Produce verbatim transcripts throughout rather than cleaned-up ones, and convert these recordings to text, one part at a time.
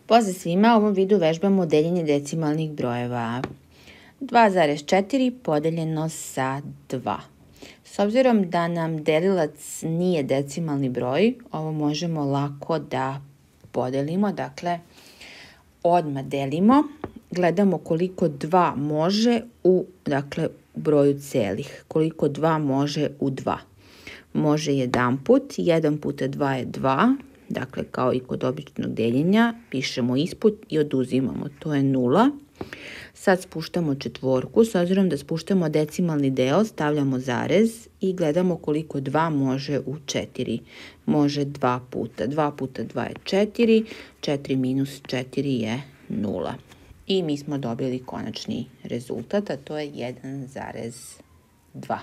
Pozdrav svima, u ovom videu vežbamo deljenje decimalnih brojeva. dva zarez četiri podeljeno sa dva. S obzirom da nam delilac nije decimalni broj, ovo možemo lako da podelimo. Dakle, odmah delimo, gledamo koliko dva može u dakle, broju celih. Koliko dva može u dva. Može jedan put, jedan puta dva je dva. Dakle, kao i kod običnog deljenja, pišemo ispod i oduzimamo. To je nula. Sad spuštamo četvorku. S obzirom da spuštamo decimalni deo, stavljamo zarez i gledamo koliko dva može u četiri. Može dva puta. dva puta dva je četiri. četiri minus četiri je nula. I mi smo dobili konačni rezultat, a to je jedan zarez dva.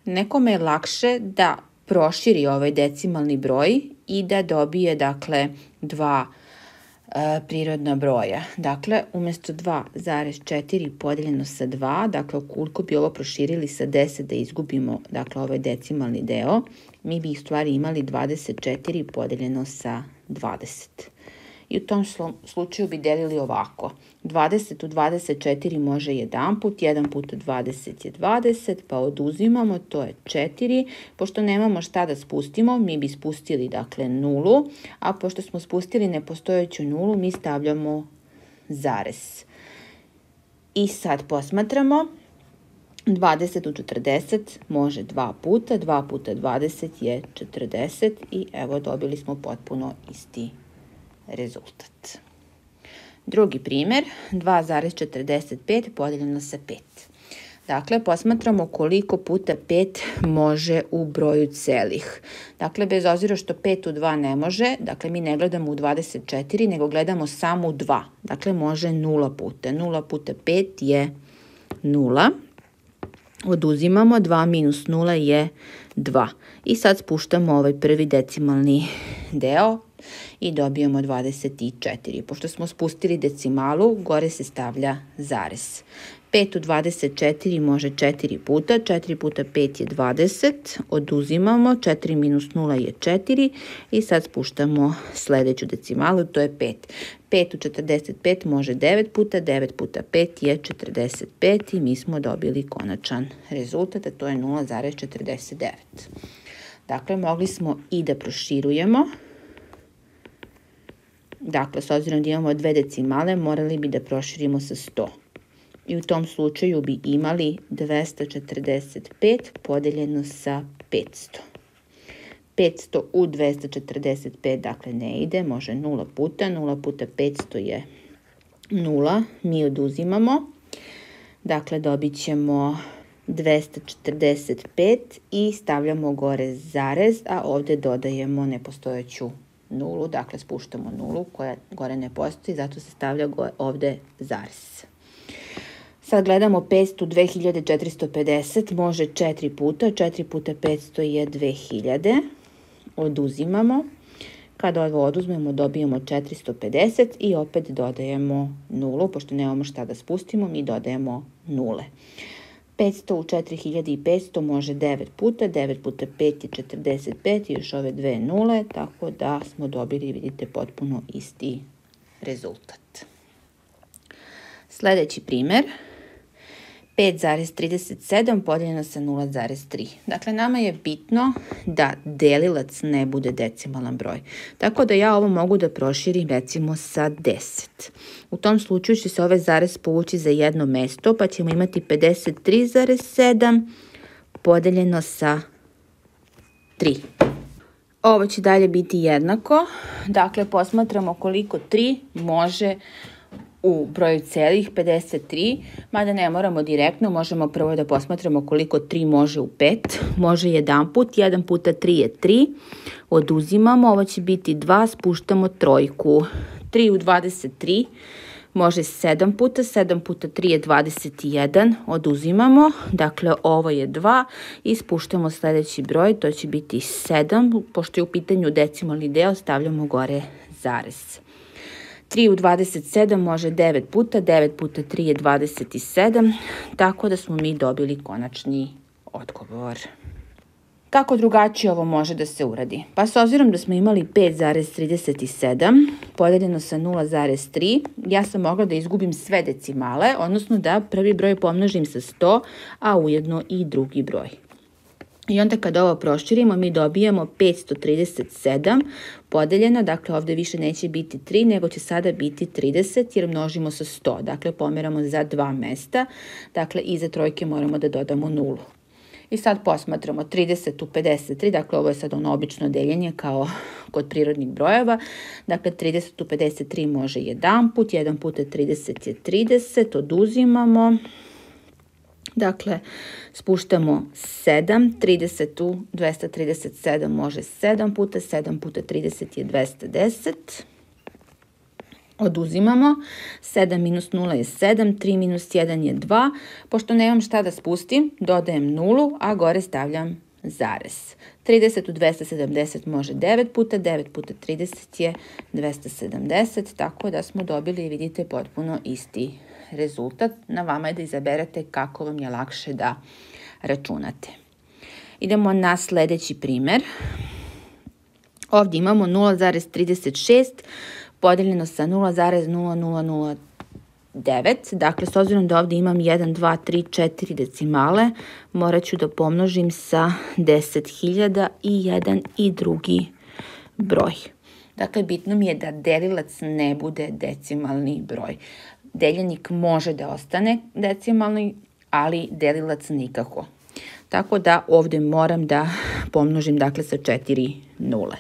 Nekome je lakše da proširi ovaj decimalni broj i da dobije, dakle, dva e, prirodna broja. Dakle, umjesto dva zarez četiri podeljeno sa dva, dakle, ukoliko bi ovo proširili sa deset da izgubimo, dakle, ovaj decimalni deo, mi bi u stvari imali dvadeset četiri podeljeno sa dvadeset. I u tom slučaju bi delili ovako. dvadeset u dvadeset četiri može jedan put, jedan puta dvadeset je dvadeset, pa oduzimamo, to je četiri. Pošto nemamo šta da spustimo, mi bi spustili, dakle, nulu, a pošto smo spustili nepostojeću nulu, mi stavljamo zarez. I sad posmatramo. dvadeset u četrdeset može dva puta, dva puta dvadeset je četrdeset i evo dobili smo potpuno isti rezultat. Drugi primjer, dva zarez četrdeset pet podeljeno sa pet. Dakle, posmatramo koliko puta pet može u broju celih. Dakle, bez obzira što pet u dva ne može, dakle, mi ne gledamo u dvadeset četiri, nego gledamo samo u dva. Dakle, može nula puta. nula puta pet je nula. Oduzimamo, dva minus nula je dva. I sad spuštamo ovaj prvi decimalni deo i dobijemo dvadeset četiri. Pošto smo spustili decimalu, gore se stavlja zarez. pet u dvadeset četiri može četiri puta, četiri puta pet je dvadeset, oduzimamo, četiri minus nula je četiri i sad spuštamo sljedeću decimalu, to je pet. pet u četrdeset pet može devet puta, devet puta pet je četrdeset pet i mi smo dobili konačan rezultat, a to je nula zarez četrdeset devet. Dakle, mogli smo i da proširujemo. Dakle, s obzirom da imamo dve decimale, morali bi da proširimo sa sto. I u tom slučaju bi imali dvesta četrdeset pet podeljeno sa petsto. petsto u dvesta četrdeset pet, dakle, ne ide, može nula puta. nula puta petsto je nula. Mi oduzimamo. Dakle, dobit ćemo dvesta četrdeset pet i stavljamo gore zarez, a ovdje dodajemo nepostojeću nulu. Dakle, spuštamo nulu koja gore ne postoji, zato se stavlja ovdje zarez. Sad gledamo petsto u dve hiljade četiristo pedeset, može četiri puta, četiri puta petsto je dve hiljade, oduzimamo. Kada ovo oduzmemo, dobijemo četiristo pedeset i opet dodajemo nulu, pošto nemamo šta da spustimo, mi dodajemo nule. petsto u četiri hiljade petsto može devet puta, devet puta pet je četrdeset pet i još ove dve nule, tako da smo dobili, vidite, potpuno isti rezultat. Sljedeći primjer, pet zarez trideset sedam podeljeno sa nula zarez tri. Dakle, nama je bitno da delilac ne bude decimalan broj. Tako da ja ovo mogu da proširim recimo sa deset. U tom slučaju će se ovaj zarez povući za jedno mesto, pa ćemo imati pedeset tri zarez sedam podeljeno sa tri. Ovo će dalje biti jednako. Dakle, posmatramo koliko tri može u broju celih, pedeset tri, mada ne moramo direktno, možemo prvo da posmatramo koliko tri može u pet. Može jedan put, jedan puta tri je tri, oduzimamo, ovo će biti dva, spuštamo trojku. tri u dvadeset tri može sedam puta, sedam puta tri je dvadeset jedan, oduzimamo, dakle ovo je dva i spuštamo sljedeći broj, to će biti sedam, pošto je u pitanju decimalni deo, stavljamo gore zarez. tri u dvadeset sedam može devet puta, devet puta tri je dvadeset sedam, tako da smo mi dobili konačni odgovor. Kako drugačije ovo može da se uradi? Pa s obzirom da smo imali pet zarez trideset sedam podeljeno sa nula zarez tri, ja sam mogla da izgubim sve decimale, odnosno da prvi broj pomnožim sa sto, a ujedno i drugi broj. I onda kad ovo proširimo, mi dobijemo petsto trideset sedam podeljeno, dakle ovdje više neće biti tri, nego će sada biti trideset jer množimo sa sto. Dakle, pomeramo za dva mesta, dakle iza trojke moramo da dodamo nulu. I sad posmatramo trideset u pedeset tri, dakle ovo je sad ono obično deljenje kao kod prirodnih brojeva. Dakle, trideset u pedeset tri može jedan put, jedan puta trideset je trideset, oduzimamo. Dakle, spuštamo sedam, trideset u dvesta trideset sedam može sedam puta, sedam puta trideset je dvesta deset. Oduzimamo, sedam minus nula je sedam, tri minus jedan je dva. Pošto nemam šta da spustim, dodajem nulu, a gore stavljam zarez. trideset u dvesta sedamdeset može devet puta, devet puta trideset je dvesta sedamdeset, tako da smo dobili, vidite, potpuno isti rezultat. Na vama je da izaberete kako vam je lakše da računate. Idemo na sljedeći primjer. Ovdje imamo nula zarez trideset šest podeljeno sa nula zarez nula nula nula devet. Dakle, s obzirom da ovdje imam jedan, dva, tri, četiri decimale, morat ću da pomnožim sa deset hiljada i jedan i drugi broj. Dakle, bitno mi je da delilac ne bude decimalni broj. Deljenik može da ostane decimalni, ali delilac nikako. Tako da ovdje moram da pomnožim, dakle, sa četiri nule.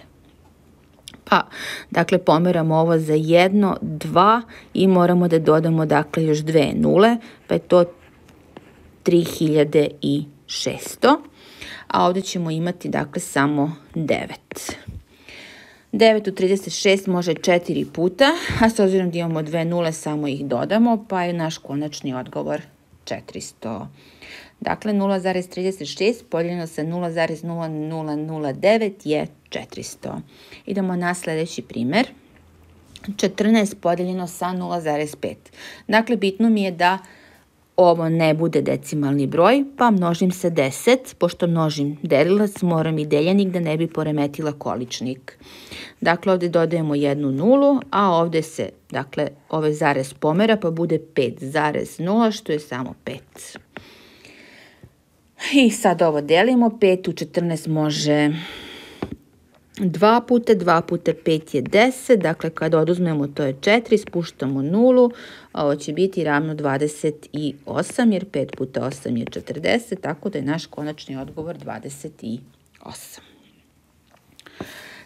Pa, dakle, pomeramo ovo za jedno, dva i moramo da dodamo, dakle, još dve nule, pa je to tri hiljade šesto. A ovdje ćemo imati, dakle, samo devet. devet u trideset šest može četiri puta, a s obzirom da imamo dve nule, samo ih dodamo, pa je naš konačni odgovor četiristo. Dakle, nula zarez trideset šest podijeljeno sa nula zarez nula nula nula devet je četiristo. Idemo na sljedeći primjer. četrnaest podijeljeno sa nula zarez pet. Dakle, bitno mi je da ovo ne bude decimalni broj, pa množim sa deset. Pošto množim delilac, moram i deljenik da ne bi poremetila količnik. Dakle, ovdje dodajemo jednu nulu, a ovdje se, dakle, ovaj zarez pomera, pa bude pet zarez nula, što je samo pet. I sad ovo delimo, pet u četrnaest može dva puta, dva puta pet je deset, dakle kada oduzmemo to je četiri, spuštamo nulu, ovo će biti ravno dvadeset osam, jer pet puta osam je četrdeset, tako da je naš konačni odgovor dvadeset osam.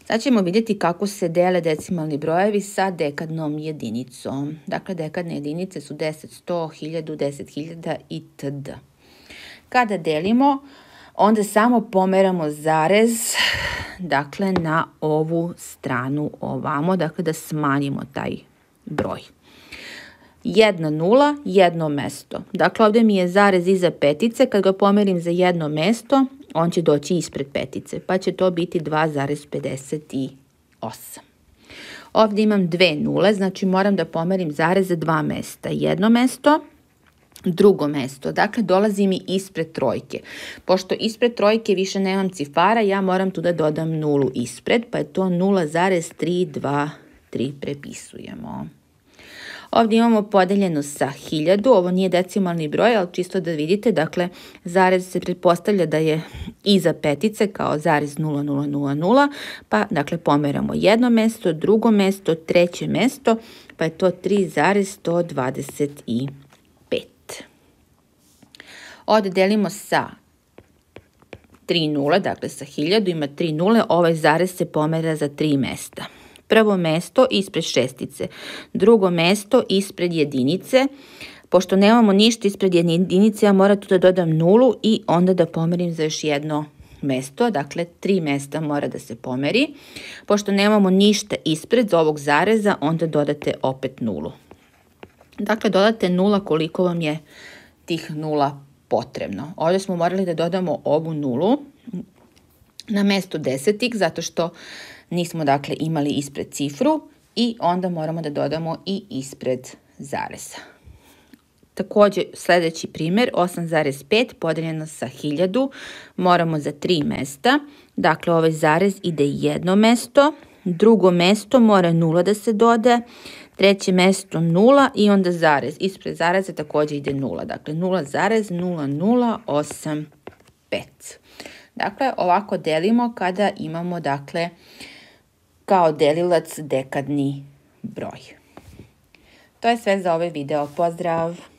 Sad ćemo vidjeti kako se dele decimalni brojevi sa dekadnom jedinicom. Dakle, dekadne jedinice su deset, sto, hiljadu, deset hiljada itd. Kada delimo, onda samo pomeramo zarez, dakle, na ovu stranu ovamo, dakle, da smanjimo taj broj. Jedna nula, jedno mesto. Dakle, ovdje mi je zarez iza petice, kad ga pomerim za jedno mesto, on će doći ispred petice, pa će to biti dva zarez pedeset osam. Ovdje imam dve nule, znači moram da pomerim zarez za dva mesta. Jedno mesto, drugo mesto, dakle dolazi mi ispred trojke. Pošto ispred trojke više nemam cifara, ja moram tu da dodam nulu ispred, pa je to nula zarez tri dva tri, prepisujemo. Ovdje imamo podeljeno sa hiljadu, ovo nije decimalni broj, ali čisto da vidite, dakle, zarez se pretpostavlja da je iza petice kao zarez nula nula nula nula, pa, dakle, pomeramo jedno mesto, drugo mesto, treće mesto, pa je to tri zarez sto dvadeset pet. Ovdje delimo sa tri nule, dakle sa hiljadu ima tri nule, ovaj zarez se pomera za tri mesta. Prvo mesto ispred šestice, drugo mesto ispred jedinice. Pošto nemamo ništa ispred jedinice, ja moram tu da dodam nulu i onda da pomerim za još jedno mesto. Dakle, tri mesta mora da se pomeri. Pošto nemamo ništa ispred ovog zareza, onda dodate opet nulu. Dakle, dodate nula koliko vam je tih nula potrebno. Ovdje smo morali da dodamo ovu nulu na mesto desetik, zato što nismo, dakle, imali ispred cifru i onda moramo da dodamo i ispred zareza. Također sljedeći primjer, osam zarez pet podeljeno sa hiljadu, moramo za tri mesta. Dakle, ovaj zarez ide jedno mesto, drugo mesto mora nula da se dode, treće mesto nula i onda zarez. Ispred zareza također ide nula, dakle nula zarez nula nula osam pet. Dakle, ovako delimo kada imamo, dakle, kao delilac dekadni broj. To je sve za ovaj video. Pozdrav!